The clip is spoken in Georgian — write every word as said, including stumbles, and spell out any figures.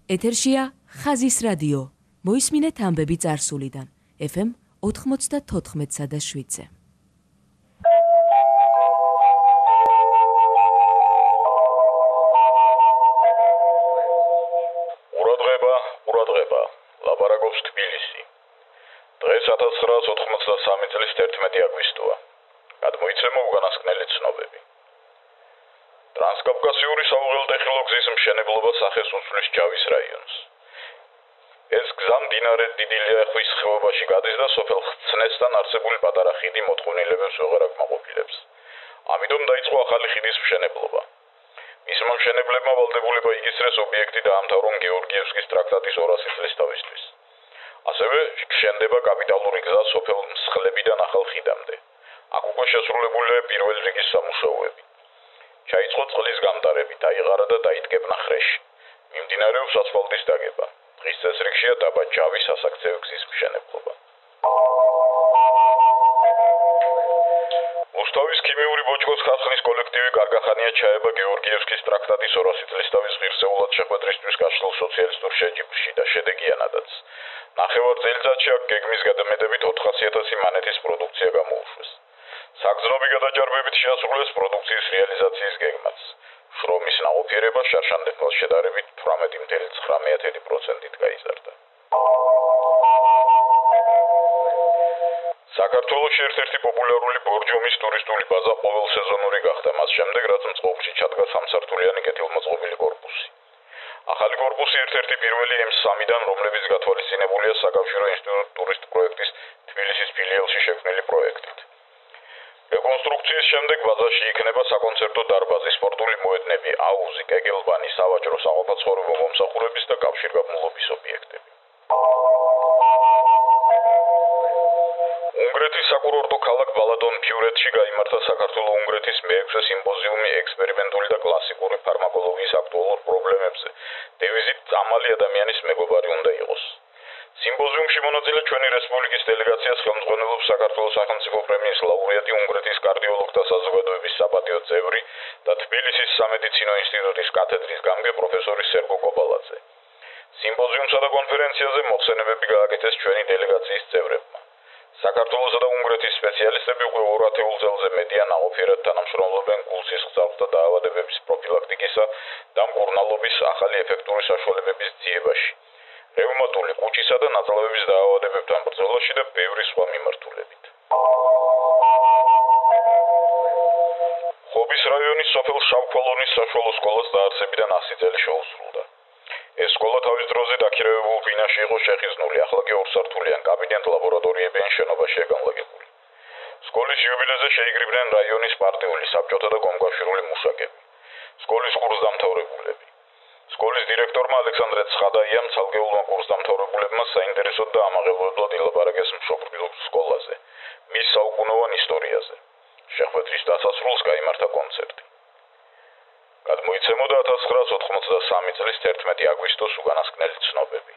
ეთერშია ხაზის რადიო. მოისმინეთ ამბები წარსულიდან. ეფ ემ ოთხმოცდათოთხმეტსა და შვიდზე. ყურადღება, ყურადღება. ლაპარაკობს თბილისი. დღეს ათას ცხრაას ოთხმოცდასამი წლის თერთმეტი აგვისტოა. გადმოიცემა უკანასკნელი ცნობები. ტრანსკავკასიური საუღელტეხილო გზის მშენებლობა სახეს უსვლის ჯავის რაიონს. ეს გზა მდინარე დიდი ლიახვის ხეობაში გადის და სოფელ ხცნესთან არსებული პატარა ხიდი მოთხოვნილებებს ვეღარ აკმაყოფილებს. ამიტომ დაიწყო ახალი ხიდის მშენებლობა. მისმა მშენებლებმა ვალდებულება იგისრეს ობიექტი დაამთავრონ გეორგიევსკის ტრაქტატის ორასი წლის თავისთვის. ასევე შენდება კაპიტალური გზა სოფელ მსხლებიდან ახალ ხიდამდე. აქ უკვე შესრულებულია პირველი რიგის სამუშაოები. ჩაიწყო წყლის გამტარები, დაიღარა და დაიდგებნა ხრეში. მიმდინარეობს ასფალტის დაგება. დღის წესრიგშია დაბა ჯავის სასაქცევი გზის მშენებლობა. რუსთავის ქიმიური ბოჭკოს ხარხნის კოლექტივი კარგახანია ჩაება გეორგიევსკის ტრაქტატის ორასი წლის თავის ღირსეულად შეხვედრისთვის გაშლილ სოციალისტურ შეჯიბრში და შედეგიანადაც. ნახევარ წელიწადში აქ გეგმის გადამეტებით ოთხასი ათასი მანეთის პროდუქცია გამოუშვეს. საგზნობი გადაჭარბებით შეასრულეს პროდუქციის რეალიზაციის გეგმაც. შრომის ნაყოფიერება შარშანდელთან შედარებით თვრამეტი წუთი ცხრამეტი პროცენტით გაიზარდა. საქართველოში ერთ-ერთი პოპულარული ბორჯომის ტურისტული ბაზა ყოველ სეზონური გახდა, მას შემდეგ რაც მწყობრში ჩადგა სამსართულიანი კეთილმოწყობილი კორპუსი. ახალი კორპუსი ერთ-ერთი პირველი ემ სამიდან, რომლებიც გათვალისწინებულია საკავშირო ინსტიტუტ ტურისტ პროექტის თბილისის ფილიალში შექმნილი პროექტით. რეკონსტრუქციის შემდეგ ბაზაში იქნება საკონცერტო დარბაზი, სპორტული მოედნები, აუზი, კეგელბანი, სავაჭრო საყოფაცხოვრებო მომსახურების და კავშირგაბმულობის ობიექტები. უნგრეთის საკურორტო ქალაქ ბალატონ-ფიურეთში გაიმართა საქართველო-უნგრეთის მეექვსე სიმპოზიუმი ექსპერიმენტული და კლასიკური ფარმაკოლოგიის აქტუალურ პრობლემებზე. დევიზით „წამალი ადამიანის მეგობარი უნდა იყოს“. სიმპოზიუმში მონაწილე ჩვენი რესპუბლიკის დელეგაციას ხელმძღვანელობს საქართველოს სახელმწიფო პრემიის ლაურეატი, უნგრეთის კარდიოლოგთა საზოგადოების საპატიო წევრი და თბილისის სამედიცინო ინსტიტუტის კათედრის გამგე პროფესორი სერგო კობალაძე. სიმპოზიუმსა და კონფერენციაზე მოხსენებები გააკეთეს ჩვენი დელეგაციის წევრებმა. საქართველოსა და უნგრეთის სპეციალისტები უკვე ორ ათეულ წელზე მედია ნაყოფიერად თანამშრომლობენ გულსისხლძარღვთა დაავადებების პროფილაქტიკისა და მკურნალობის ახალი ეფექტური საშუალებების ძიებაში. რევმატული, კუჭისა და ნაწლავების დაავადებებთან ბრძოლაში და ბევრი სხვა მიმართულებით. ხობის რაიონის სოფელ შავქვალონის საშუალო სკოლას დაარსებიდან ასი წელი შეუსრულდა. ეს სკოლა თავის დროზე დაქირავებულ ბინაში იყო შეხიზნული, ახლა კი ორსართულიან კაბინეტ ლაბორატორიებიან შენობაშია განლაგებული. სკოლის იუბილეზე შეიკრიბნენ რაიონის პარტიული, საბჭოთა და კომკავშირული მუშაკები. სკოლის კურსდამთავრებულები. სკოლის დირექტორმა ალექსანდრე ცხადაიამ ცალკეულმა კურსდამთავრებულებმა საინტერესოდ და ამაღელვებლად ილაპარაკეს მშობლიურ სკოლაზე, მის საუკუნოვან ისტორიაზე. შეხვედრის დასასრულს გაიმართა კონცერტი. გადმოიცემოდა ათას ცხრაას ოთხმოცდასამი წლის თერთმეტი აგვისტოს უკანასკნელი ცნობები.